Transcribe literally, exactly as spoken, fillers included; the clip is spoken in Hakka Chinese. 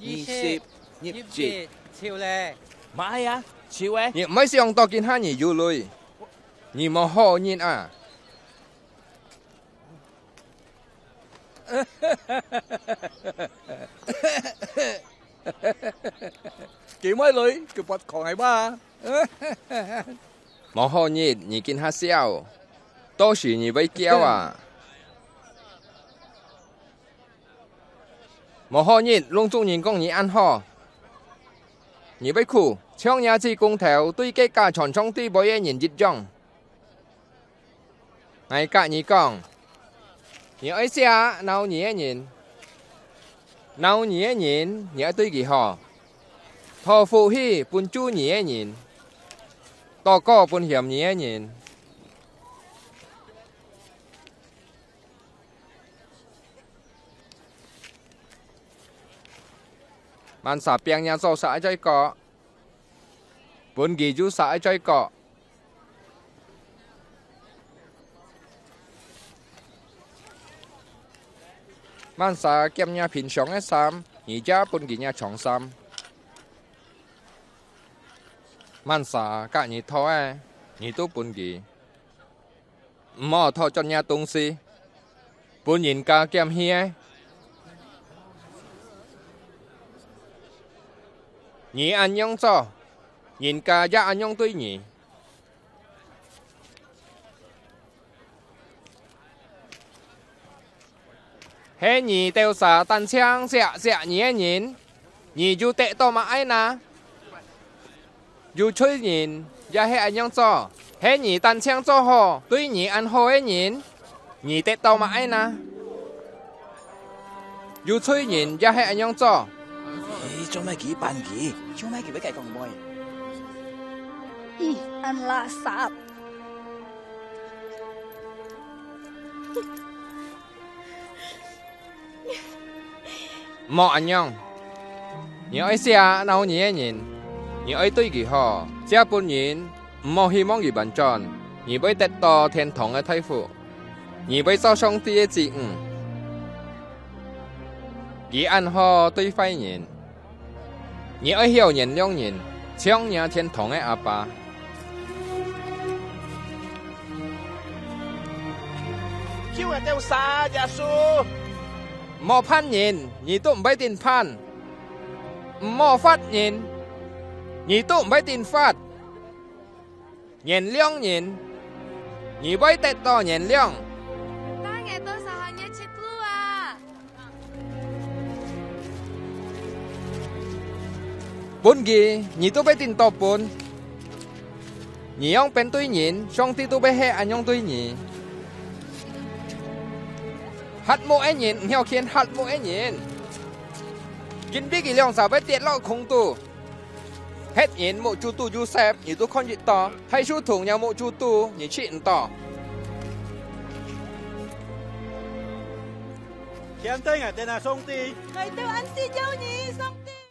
二十，入籍。入籍，就咧。毋係啊，就欸。你毋會想到今下你有鐳，你無好人啊！佢無鐳，佢發狂係嘛？無好日，你今下笑，到時你會噭啊！無好日，攏總人講你恁好，你會苦，像若子公頭對該假傳唱對背个人一樣。 𠊎甲你講，你愛惜惱你个人，惱你个人，你愛對佢好，討福氣分就你个人，禱告分嫌你个人。Mansa piang若做煞个罪過，分佢有煞个罪過。 Mansa挾若平常个衫，你也分佢若長衫。Mansa甲你討个，你都分佢。毋好討轉若東西，分人家挾去个。你恁樣做，人家也恁樣對你。 係你兜儕單淨惜惜你个人，你有得到麼个呢？有罪人也係恁樣做，係你單淨做好，對你恁好个人，你得到麼个呢？有罪人也係恁樣做。咦，做麼个佢扮佢？做麼个佢會解講妹？咦，恁垃圾！ 毋好恁樣！你愛惜惱你个人，你愛對佢好，這分人毋好希望佢反轉，你會得到天堂个大福，你會做上帝个子女。佢恁好對壞人， 你愛曉原諒人，像若天堂个阿爸。救𠊎兜儕，耶穌！毋好判人，你都毋會定判；毋好罰人，你都毋會定罰。 原諒人，你會得到原諒。但𠊎兜儕還有出路啊！分佢，你都會定到分。你樣般對人，上帝都會係恁樣對你。瞎目个人，毋曉牽瞎目个人，因為佢兩儕會跌落空肚。 核仁目珠肚有色，你都看得到；大樹崠若目珠肚，你試毋到。牽等𠊎兜啊，上帝！𠊎兜恁需要你，上帝！